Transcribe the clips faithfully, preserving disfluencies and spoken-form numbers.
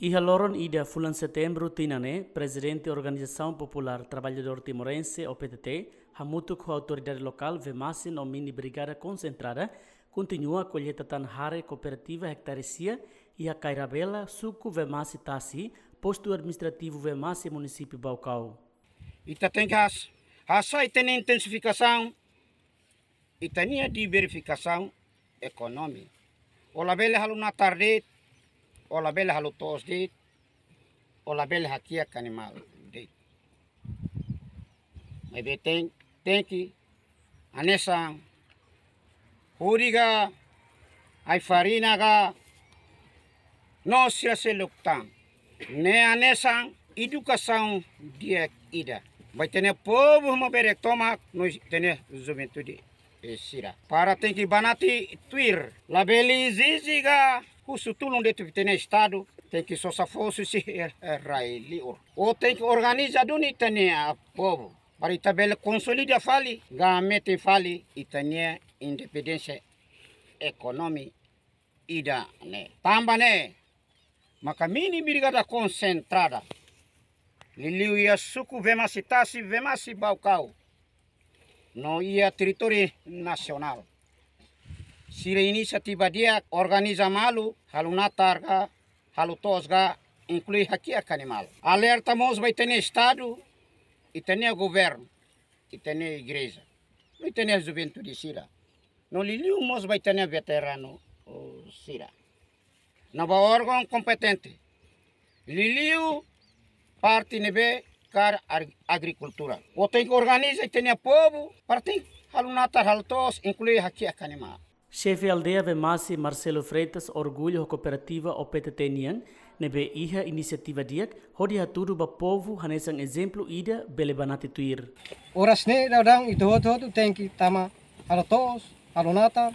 Iha loron ida fulan Setembru tinan ne'e, Prezidente Organizasaun Populár Traballadór Timorense, O P T T, hamutuk ho autoridade lokál Vemasse no Mini Brigada Konsentrada, kontinua kolleita tan hare kooperativa ektare sia iha Kairabela, suku Vemasse Tasi, postu administrativu Vemasse, munisípiu Baucau. Ita tenke has-, hasai ita-nia intensifikasaun ita-nia diversifikasaun ekonomia. O labele halo natar de'it, o labele halo to'os de'it, o labele hakiak animál de'it. Maibé ten, tenke hanesan hudi ka, ai-farina ka, no sira seluk tan. Ne'e hanesan edukasaun di'ak ida ba ita-nia povu maubere tomak no ita-nia juventude, eh, sira. Para tenke banati tuir, labele ezije ka husu tulun de'it ba ita-nia Estadu, tenke sosa fó husi, eh, rai-liur. Ou tenke organiza duni ita-nia povu para ita bele konsolida fali, ka metin fali ita-nia independénsia ekonomia ida-ne'e. Tanba ne'e maka Mini Brigada Konsentrada, liuliu iha suku Vemasse Tasi, Vemasse Baucau, no iha territóriu nasionál, sira inisiativa di'ak, organiza malu, halo natar ka, halo to'os ka, inklui hakiak animál. Alerta mós ba ita-nia Estadu, ita-nia governu, ita-nia igreja, no ita-nia juventude sira, no liuliu mós ba ita-nia veteranu, oh, sira, no ba órgaun kompetente, liuliu parte ne'ebé kaer ar-, agrikultura. Ou tenke organiza ita-nia povu para tenke halo natar, halo to'os, inklui hakiak animál. Xefe aldeia Vemasse, Marcelo Freitas, orgullu ho kooperativa O P T T nian, ne'ebé iha inisiativa di'ak hodi hatudu ba povu hanesan ezemplu ida bele banati tuir. Oras ne'e daudaun ita hotu-hotu tenke tama halo to'os, halo natar,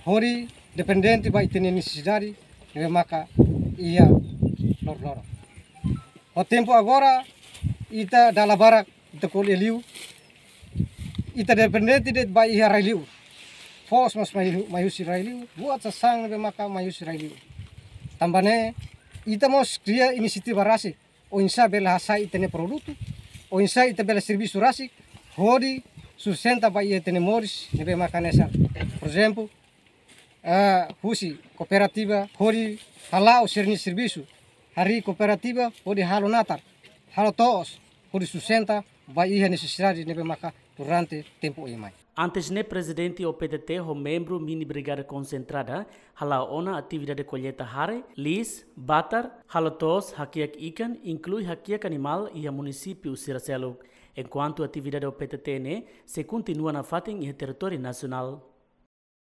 hodi dependente ba ita-nia nesesidade ne'ebé maka iha loroloron. Ho tempu agora, ita dala barak ita ko'alia liu, ita dependente de'it ba iha rai-liur. Foos mós mai, mai husi rai-liur, buat sasán ne'ebé maka mai husi rai-liur. Tanba ne'e, ita mós kria inisiativa rasik, oinsá bele hasai ita-nia produtu, oinsá ita bele servisu rasik, hodi sustenta ba iha ita-nia moris ne'ebé maka hanesan, por ezemplu, eh, husi kooperativa hodi hala'o sira-nia servisu, harii kooperativa hodi halo natar, halo to'os, hodi sustenta ba iha nesesidade ne'ebé maka durante tempu oin mai. Antes ne'e, Prezidente O P T T ho membru Mini Brigada Konsentrada hala'o ona atividade kolleita hare, liis, batar, halo to'os, hakiak ikan, inklui hakiak animál iha munisípiu sira seluk, enkuantu atividade O P T T ne'e sei kontinua nafatin iha territóriu nasionál.